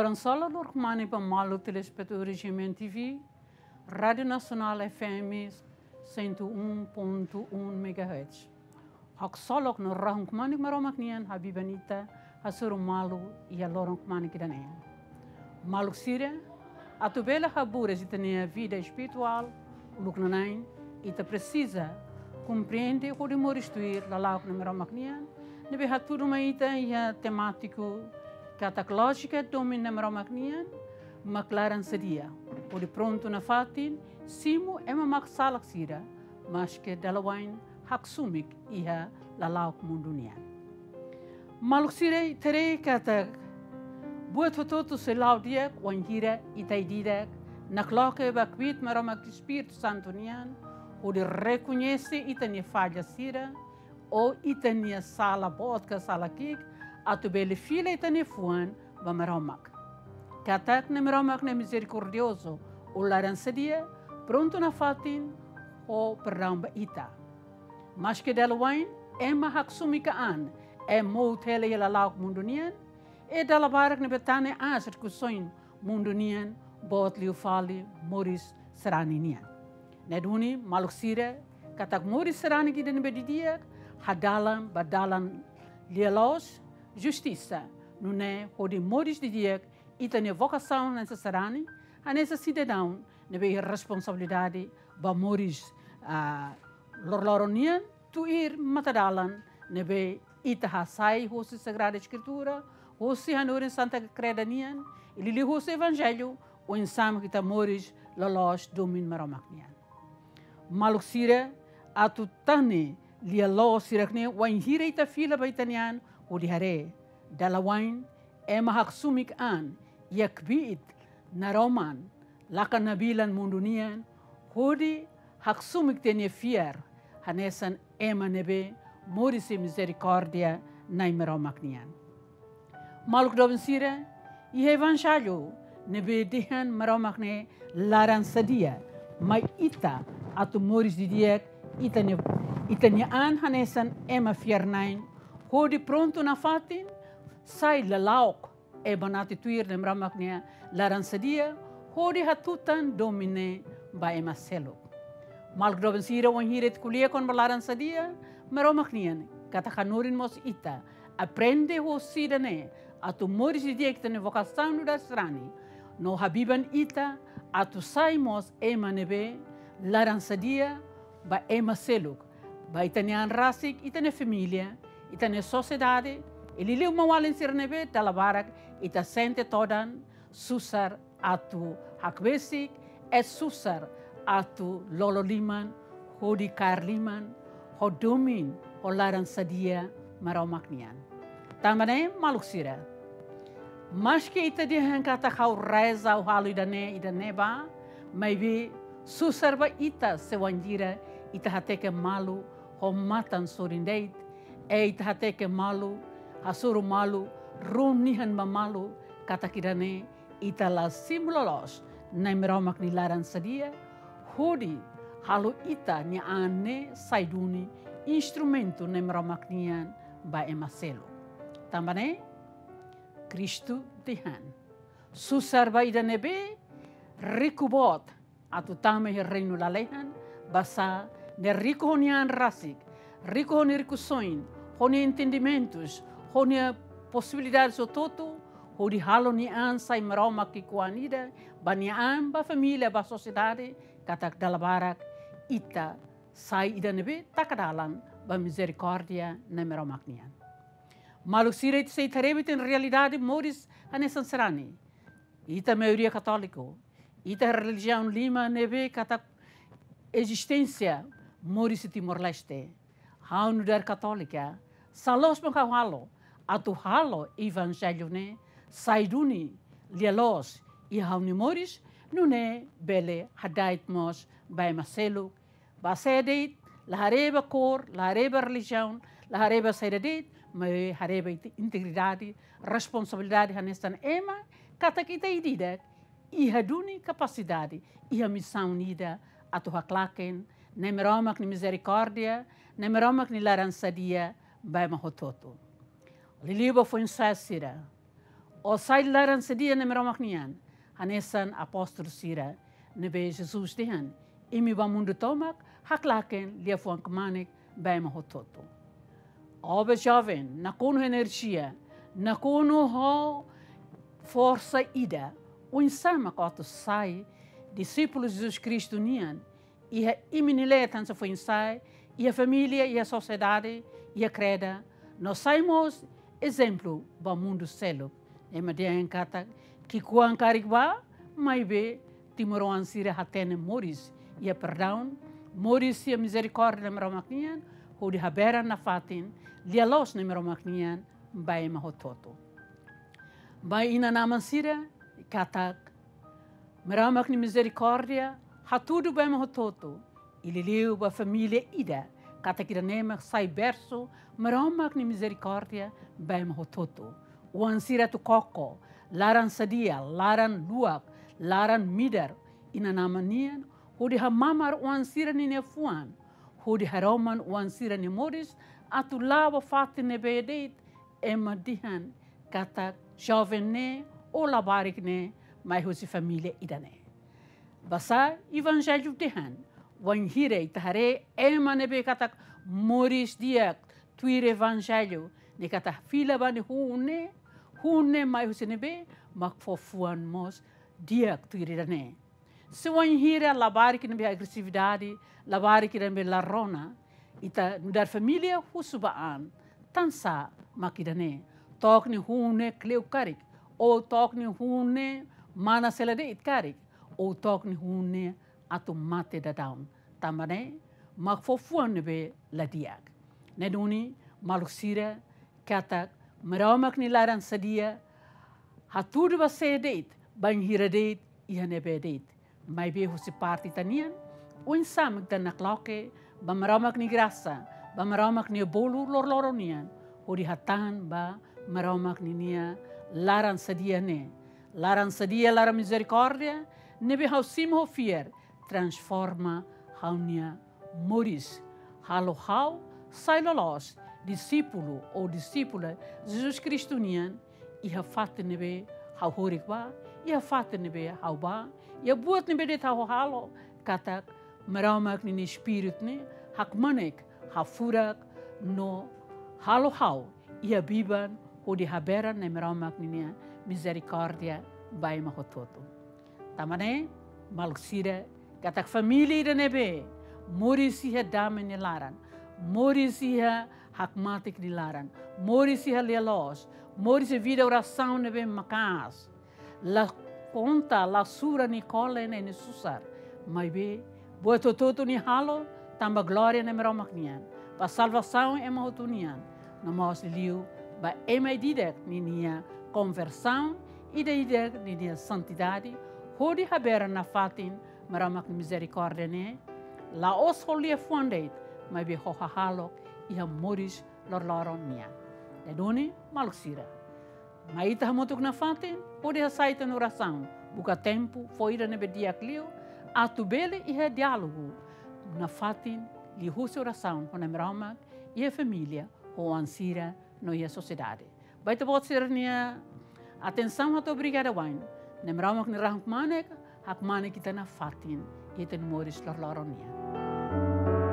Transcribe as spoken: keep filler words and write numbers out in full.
Hasoru loron kmanek ba maluk telespetadór G M N T V, Rádiu Nasionál F M cento e um ponto um megahertz. Haksolok no rahun kmanek Maromak nian habiban ita hasoru malu iha loron kmanek ida-ne'e. Maluk sira, atu bele haburas ita-nia vida espirituál uluk nanain, ita presiza komprende hodi moris tuir lala'ok Nai Maromak nian, ne'ebé hatudu mai ita iha temátiku katak lójika domin Nai Maromak nian mak laran sadia, hodi prontu nafatin simu ema maksalak sira, maske dala wa'in hakso'umik iha lala'ok mundu nian. Maluk sira, ita haree katak buat hotu-hotu sei la'o di'ak wainhira ita ida-idak nakloke ba kbiit Maromak Espíritu Santu nian, hodi rekoñese ita-nia falla sira, ou ita-nia sala boot ka sala ki'ik, atu bele fila ita-nia fuan ba Maromak. Katak Nai Maromak ne'e mizerikordiozu, ou laran sadia, prontu nafatin ho perdaun ba ita. Maske dala wa'in ema hakso'umik an, ema mout hela iha lala'ok mundu nian, i dala barak ne'ebé tane aas rikusoin mundu nian, boot liu fali moris sarani nian. Ne'e duni maluk sira, katak moris sarani ida ne'ebé didi'ak hadalan ba dalan lia-loos, justisa, nune'e hodi moris didi'ak ita-nia vokasaun hanesan sarani, hanesan sidadaun ne'ebé iha responsabilidade ba moris, ah, loroloron nian, tuir matadalan ne'ebé ita hasai husi Sagrada Eskritura, husi hanorin Santa Kreda nian, i liuliu husi Evanjellu, oinsá mak ita moris loloos domin Maromak nian. Maluk sira, atu tane lia-loos sira-ne'e wainhira ita fila ba ita-nia an hodi haree, dala wa'in ema hakso'umik an iha kbiit naroman, laka nabilan mundu nian, hodi hakso'umik ita-nia fiar hanesan ema ne'ebé moris iha mizerikórdia Nai Maromak nian. Maluk doben sira, iha Evanjellu ne'ebé dehan Maromak ne'e laran sadia mai ita atu moris didi'ak ita-nia, ita-nia an hanesan ema fiar-na'in, hodi prontu nafatin sai lala'ok, ema nafatin tuir Nai Maromak nia laran sadia, hodi hatutan domin ne'e ba ema seluk. Maluk doben sira, wainhira ita ko'alia kona-ba laran sadia Maromak nian, katak hanorin mós ita aprende husi ida-ne'e atu moris didi'ak ita-nia vokasaun nu'udar sarani, no habiban ita atu sai mós ema ne'ebé laran sadia ba ema seluk, ba ita-nia an rasik, ita-nia família, ita-nia sosiedade, i liuliu maun-alin sira ne'ebé dala barak ita sente todan susar atu hakbesik, i susar atu lolo liman, hodi kaer liman ho domin, ho laran sadia Maromak nian. Tanba ne'e maluk sira, maske ita dehan katak ha'u reza, ha'u halo ida-ne'e, ida-ne'ebá, maibé susar ba ita se wainhira ita hateke malu ho matan sorin de'it, i ita hateke malu, hasoru malu, rona nian ba malu, katak ida-ne'e ita la simu loloos Nai Maromak nia laran sadia, hodi halo ita-nia an ne'e sai duni instrumentu Nai Maromak nian ba ema seluk. Tanba ne'e Kristu dehan: Susar ba ida ne'ebé riku boot atu tama iha reinu lalehan, basá ne'e riku ho nia an rasik, riku ho nia rikusoin, ho nia entendimentus, ho nia posibilidades hotu-hotu, hodi halo nia an sai Maromak ki'ikoan ida, ba nia an, ba família, ba sosiedade, katak dala barak ita sai ida ne'ebé taka dalan ba mizerikórdia Nai Maromak nian. Maluk sira, ita sei haree ba ita-nia realidade moris hanesan sarani. Ita maioria katóliku. Ita relijiaun lima ne'ebé katak ezisténsia moris iha Timor-Leste. Ha'u nu'udar katólika, sá loos mak ha'u halo atu halo Evanjellu ne'e sai duni lia-loos iha ha'u-nia moris, nune'e bele hada'et mós ba ema seluk, ba sé de'it, la haree ba kór, la haree ba relijiaun, la haree ba saida de'it, maibé haree ba inte-, integridade, responsabilidade hanesan ema, katak ita ida-idak iha duni kapasidade, iha misaun ida atu haklaken Nai Maromak nia mizerikórdia, Nai Maromak nia laran sadia ba ema hotu-hotu. Liuliu ba foin-sa'e sira. Ó sai laran sadia Nai Maromak nian, hanesan apóstolu sira ne'ebé Jesus dehan: Imi bá mundu tomak, haklaken liafuan kmanek ba ema hotu-hotu. Ó be joven, nakonu enerjia, nakonu ho forsa ida, oinsá mak ó atu sai disípulu Jesus Kristu nian, iha imi-nia leet hanesan foin-sa'e, iha família, iha sosiedade, iha kreda, no sai mós ezemplu ba mundu seluk. Ema dehan katak ki'ikoan karik bá, maibé timoroan sira hatene moris iha perdaun, moris iha mizerikórdia Nai Maromak nian, hodi haberan nafatin lia-loos Nai Maromak nian ba ema hotu-hotu. Ba inan-aman sira, katak Maromak nia mizerikórdia hatudu ba ema hotu-hotu, i liuliu ba família ida, katak ida-ne'e mak sai bersu Maromak nia mizerikórdia ba ema hotu-hotu. Oan sira atu koko laran sadia, laran luak, laran midar inan-aman nian, hodi hamamar oan sira-nia fuan, hodi haroman oan sira-nia moris, atu la'o ba fatin ne'ebé de'it ema dehan katak joven ne'e ou labarik ne'e mai husi família ida-ne'e. Basá Evanjellu dehan, wainhira ita haree ema ne'ebé katak moris di'ak tuir Evanjellu, ne'e katak fila ba nia hun ne'e, hun ne'e mai husi ne'ebé, mak fó fuan mós di'ak tuir ida-ne'e. Se wainhira labarik ne'ebé agresividade, labarik ne'ebé la rona, ita nu'udar família husu ba an, tansá mak ida-ne'e? To'ok nia hun ne'e kleur karik, ou to'ok nia hun ne'e mana sei la de'it karik, ou to'ok nia hun ne'e atu mate daudaun. Tanba ne'e mak fó fuan ne'ebé la di'ak. Ne'e duni, maluk sira, katak Maromak nia laran sadia hatudu ba sé de'it, bainhira de'it, iha ne'ebé de'it. Maibé husi parte ita-nian, oinsá mak ita nakloke ba Maromak nia grasa, ba Maromak nia bolu loroloron nian, hodi hatán ba Maromak ninia laran sadia ne'e. Laran sadia, laran mizerikórdia, ne'ebé ha'u simu ho fiar, transforma ha'u-nia moris, halo ha'u sai loloos disípulu ou disípula Jesus Kristu nian, iha fatin ne'ebé ha'u horik bá, iha fatin ne'ebé ha'u bá, iha buat ne'ebé de'it ha'u halo, katak Maromak ninia Espíritu ne'e hakmanek, hafurak no halo ha'u iha biban hodi haberan Nai Maromak ninia mizerikórdia ba ema hotu-hotu. Tanba ne'e, maluk sira, katak família ida ne'ebé moris iha dame nia laran, moris iha hakmatek nia laran, moris iha lia-loos, moris iha vida orasaun ne'ebé maka'as, la konta, la sura nia kole, nia susar, maibé buat hotu-hotu nia halo tanba glória Nai Maromak nian, ba salvasaun ema hotu nian, no mós liuliu ba ema ida-idak ninia konversaun, ida-idak ninia santidade, hodi haberan nafatin Maromak nia mizerikórdia ne'e, la'ós ho liafuan de'it, maibé ho hahalok iha moris loroloron nian. Ne'e duni, maluk sira, mai ita hamutuk nafatin, hodi hasai ita-nia orasaun, buka tempu, fó ida ne'ebé di'ak liu, atu bele iha diálogu nafatin, liuhusi orasaun ho Nai Maromak, iha família, ho oan sira, no iha sosiedade. Ba ita-boot sira-nia atensaun hato'o obrigada wa'in. Nai Maromak nia rahun-kmanek hakmanek ita nafatin iha ita-nia moris loroloron nian.